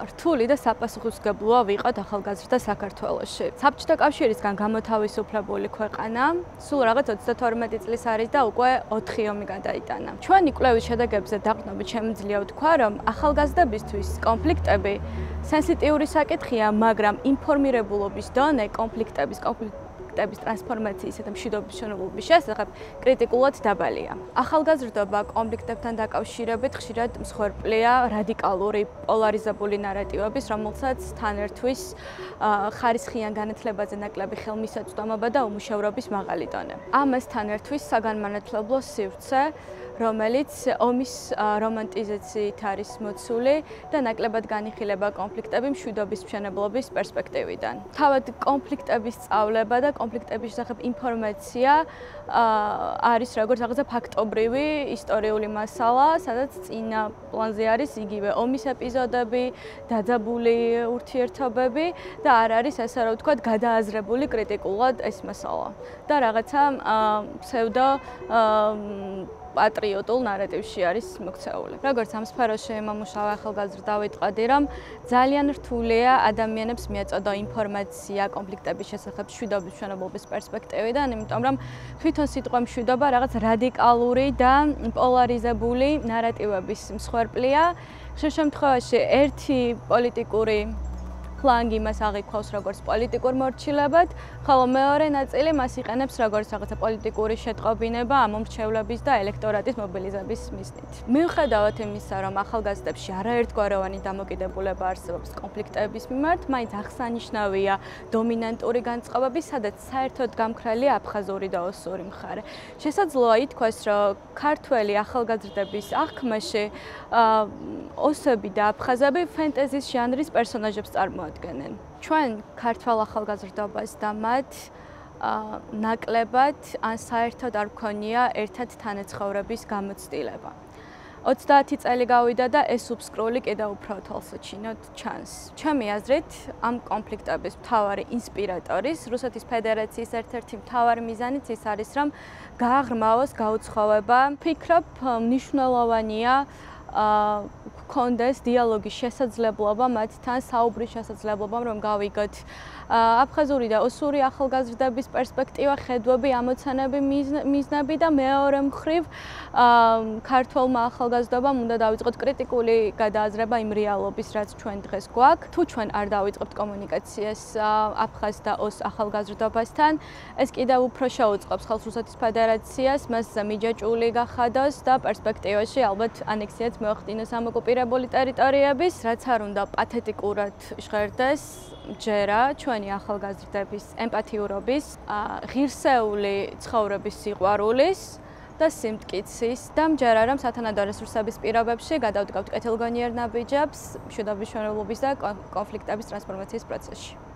რთული და საპასუხისმგებლოა ვიყოთ ახალგაზრდა საქართველოში. საბჭოთა კავშირისგან გამოთავისუფლებული ქვეყანა, სულ რაღაც 32 წლის არის და უკვე 4 ომი გადაიტანა. ჩვენი კვლევის შედეგებზე დაყრდნობით შემიძლია ვთქვა, რომ ახალგაზრდებისთვის კონფლიქტები სენსიტიური საკითხია, მაგრამ ინფორმირებულობის დონე კონფლიქტების ტრანსფორმაციისა და მშვიდობის მშენებლობის შესახებ კრიტიკულად დაბალია. ახალგაზრდობა კონფლიქტებთან დაკავშირებით ხშირად მსხვერპლია რადიკალური პოლარიზებული ნარატივების, რომელსაც თან ერთვის ხარისხიან განათლებაზე ნაკლები ხელმისაწვდომობა და უმუშევრობის მაღალი დონე. ამასთან ერთვის საგანმანათლებლო სივრცე, რომელიც ომის რომანტიზაციით არის მოცული და ნაკლებად განიხილება კონფლიქტები მშვიდობის მშენებლობის პერსპექტივიდან. თავად კონფლიქტების სწავლება და კონფლიქტების შესახებ ინფორმაცია არის როგორც რაღაცა ფაქტობრივი ისტორიული მასალა, სადაც წინა პლანზე არის იგივე ომის ეპიზოდები, დაძაბული ურთიერთობები და არ არის ასე რომ ვთქვათ გადააზრებული კრიტიკულად ეს მასალა. და რაღაცა ფსევდო პატრიოტულ ნარატივში არის მოქცეული. როგორც ამ სფეროში მომუშავე ახალგაზრდა ვიტყოდი, რომ ძალიან რთულია ადამიანებს მიეწოდო ინფორმაცია კონფლიქტების შესახებ მშვიდობის მშენებლობის პერსპექტივიდან, იმიტომ რომ თვითონ სიტყვა მშვიდობა რაღაც რადიკალური და პოლარიზებული ნარატივების მსხვერპლია. ხშირ შემთხვევაში ერთი პოლიტიკური ფლანგი მას აღიქვავს როგორც პოლიტიკურ მორჩილებად, ხოლო მეორე ნაწილი მას იყენებს როგორც რაღაცა პოლიტიკური შეტყობინება ამომრჩევლების და ელექტორატის მობილიზების მიზნით. მიუხედავად იმისა, რომ ახალგაზრდებში არაერთგვაროვანი დამოკიდებულება არსებობს კონფლიქტების მიმართ, მაინც აღსანიშნავია დომინანტური განწყობები, სადაც საერთოდ გამქრალია აფხაზური და ოსური მხარე. შესაძლოა ითქვას, რომ ქართველი ახალგაზრდების აღქმაში ოსები და აფხაზები ფენტეზის ჟანრის პერსონაჟებს წარმოადგენენ. ჩვენ ქართველ ახალგაზრდობას და მათ ნაკლებად ან საერთოდ არ გქონია ერთად თანაცხოვრების გამოცდილება. 30 წელი გავიდა და ეს უბსკრული კიდევ უფრო თვალსაჩინოდ ჩანს. ჩემი აზრით, ამ კონფლიქტების მთავარი ინსპირატორის რუსეთის ფედერაციის ერთ-ერთი მთავარი მიზანიც ის არის, რომ გააღრმავოს გაუცხოვება. ვფიქრობ, მნიშვნელოვანია გქონდეს დიალოგის შესაძლებლობა მათთან, საუბრის შესაძლებლობა, რომ გავიგოთ აფხაზური და ოსური ახალგაზრდების პერსპექტივა, ხედვები, ამოცანები, მიზნები და მეორე მხრივ ქართველმა ახალგაზრდობამ უნდა დავიწყოთ კრიტიკული გადააზრება იმ რეალობის, რაც ჩვენ დღეს გვაქვს. თუ ჩვენ არ დავიწყებთ კომუნიკაციას აფხაზ და ოს ახალგაზრდობასთან, ეს კიდევ უფრო შეუწყობს ხალხს რუსეთის ფედერაციას, მას მიჯაჭვული გახადოს და პერსპექტივაში ალბათ ანექსიაც მოახდინოს ამ ოკუპირებული ტერიტორიების, რაც არ უნდა პათეტიკურად ჟღერდეს ჯერა ჩვენი ახალგაზრდების ემპათიურობის, ღირსეული ცხოვრების სიყვარულის და სიმტკიცის და მჯერა რომ სათანადო რესურსების პირობებში გადავდგავთ კეთილგონიერ ნაბიჯებს მშვიდობის მშენებლობის და კონფლიქტების ტრანსფორმაციის პროცესში.